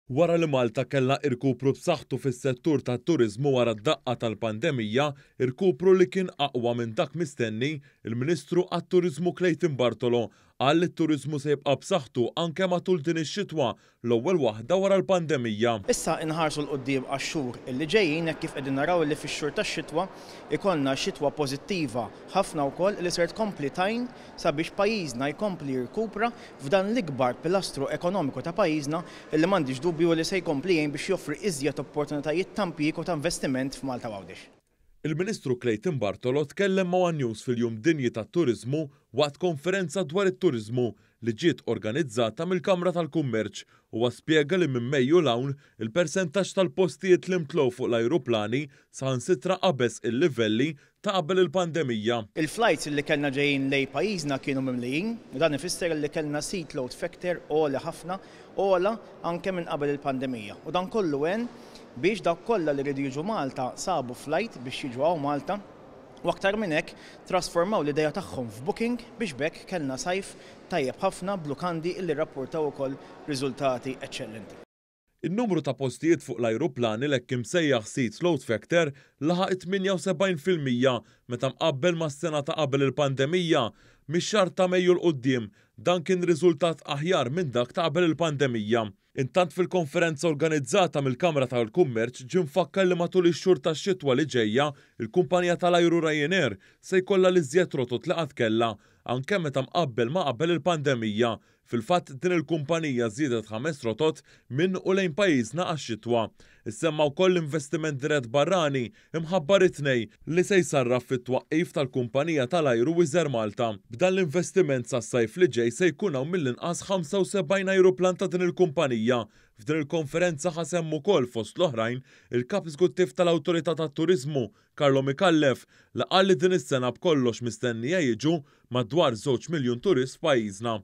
Wara li Malta kellha irkupru b'saħħtu fis-settur tat-turiżmu wara d-daqqa tal-pandemija, irkupru li kien aqwa minn dak mistenni, il-Ministru għat-Turiżmu Clayton Bartolo qal li t-turiżmu se jibqa' b'saħħtu anke matul din ix-xitwa, l-ewwel waħda wara l-pandemija. Issa inħarsu 'l quddiem għax-xhur li ġejjin hekk kif qegħdin naraw li fix-xhur tax-xitwa jkollna xitwa pożittiva ħafna wkoll li ser tkompli tgħin sabiex pajjiżna jkompli jirkupra f'dan l-ikbar pilastru ekonomiku ta' pajjiżna li m'għandix dubju li se jkompli jgħin biex joffri iżjed opportunitajiet ta' impjieg u ta' investiment f'Malta u Għawdex. Il-Ministru Clayton Bartolo tkellem ma' one News fil-Jum Dinji tat-Turiżmu waqt konferenza dwar it-turiżmu li ġiet organizzata mill-Kamra tal-Kummerċ. Huwa spjega li minn Mejju 'l hawn, il-persentaġġ tal-postijiet li mtlew fuq l-ajruplani saħansitra qabeż il-livelli ta' qabel il-pandemija. Il-flights li kellna ġejjin lejn pajjiżna kienu mimlijin u dan ifisser li kellna seat load factor għoli ħafna, ogħla anke minn qabel il-pandemija. U dan kollu għen biex dawk kollha li riedu jiġu Malta sabu flight biex jiġu hawn Malta u aktar minn hekk trasformaw l-idea tagħhom f'booking biex b'hekk kellna sajf tajjeb ħafna b'lukandi illi rrappurtaw ukoll riżultati eċċellenti. In-numru ta' postijiet fuq l-ajruplani l-hekk imsejjaħ seat load factor laħaq it-78% meta mqabbel mas-sena ta' qabel il-pandemija. Mix-xahar ta' Mejju 'l quddiem, dan kien riżultat aħjar minn dak ta' qabel il-pandemija. Intant fil-konferenza organizzata mill-Kamra tal-Kummerċ ġie mfakkar li matul ix-xhur tax-xitwa li ġejja, il-kumpanija tal-ajru Ryanair se jkollha l-iżjed rotot li qatt kellha, anke meta mqabbel ma' qabel il-pandemija. Fil-fatt din il-kumpanija żiedet ħames rotot minn u lejn pajjiżna għax-xitwa. Issemma wkoll l-investiment dirett barrani imħabbar it-Tnejn li se jsarraf fit-twaqqif tal-kumpanija tal-ajru Wizz Air Malta. B'dan l-investiment sas-sajf li ġej se jkun hawn mill-inqas 75 ajruplan ta' din il-kumpanija. F'din il-konferenza ħa sehem ukoll fost l-oħrajn il-Kap Eżekuttiv tal-Awtorità tat-Turiżmu, Carlo Micallef, li qal li din is-sena b'kollox mistennija jiġu madwar żewġ miljun turist f'pajjiżna.